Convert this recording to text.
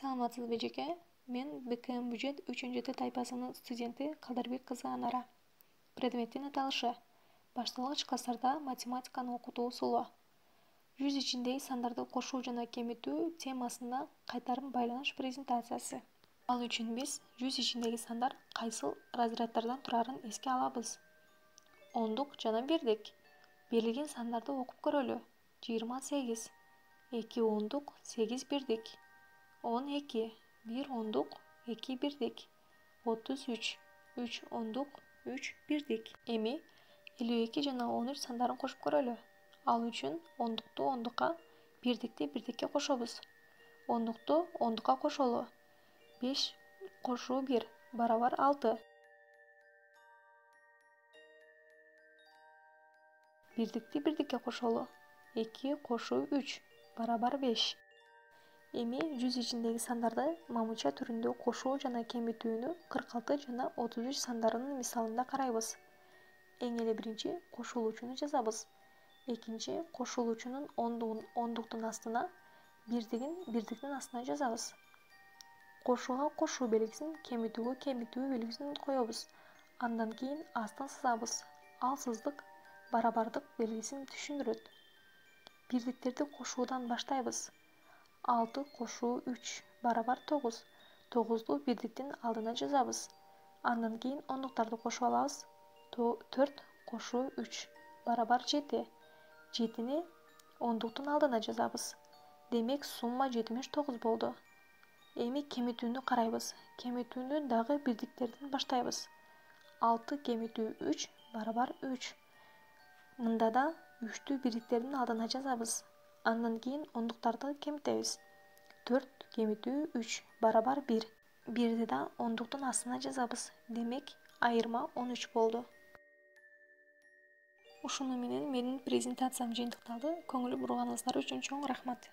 Саламатсызбы жеке? Мен БКМ бюджет 3-Т тайпасынын студенти Калдарбек кызы Анара. Предметтин аталышы: башталгыч класстарда математиканы окутуу усулу. Жүз ичиндеги сандарды кошуу жана кемитүү темасында кайтарым байланыш презентациясы. Ал үчүн биз жүз ичиндеги сандар кайсыл разряддардан турарын эске алабыз. Ондук жана бирдик. Берилген сандарды окуп көрөлү. 28, 2 ондук, 8 бирдик. 12, 1 ондук, 2 бирдик. 33, 3 ондук, 3 бирдик. Эми 52 жана 13 сандарын кошуп көрөлү. Ал үчүн ондукту ондукка, бирдикти бирдикке кошобуз. Ондукту ондукка кошолу. 5 кошуу 1 барабар 6. Бирдикти бирдикке кошолу. 2 кошуу 3 барабар 5. Эми жүз ичиндеги сандарды мамыча түрүндө кошуу жана кемитүүнү 46 жана 33 сандарынын мисалында карайбыз. Эң эле биринчи кошулуучуну жазабыз. Экинчи кошулуучунун ондугун ондуктун астына, бирдигин бирдиктин астына жазабыз. Кошууга кошуу белгисин, кемитүүгө кемитүү белгисин коебуз. Андан кийин астын сызабыз. Ал сыздык барабардык белгисин түшүндүрөт. Бирдиктерди кошуудан баштайбыз. 6 кошуу 3 барабар 9. 9-ду бирдиктин алдына жазабыз. Андан кийин ондуктарды кошуп алабыз. 4 кошуу 3 барабар 7. 7-ни ондуктун алдына жазабыз. Демек сумма 79 болду. Эми кемитүүнү карайбыз. Кемитүүнү дагы бирдиктерден баштайбыз. 6 кемитүү 3 барабар 3. Мында да 3-тү бирдиктердин алдына жазабыз. Андан кийин ондуктарды кемитебиз. 4 кемитүү 3 барабар 1. 1-ди да ондуктун астына жазабыз. Демек айырма 13 болду. Ушуну менен менин презентациям жыйынтыкталды. Көңүл бурганыңыздар үчүн чоң рахмат.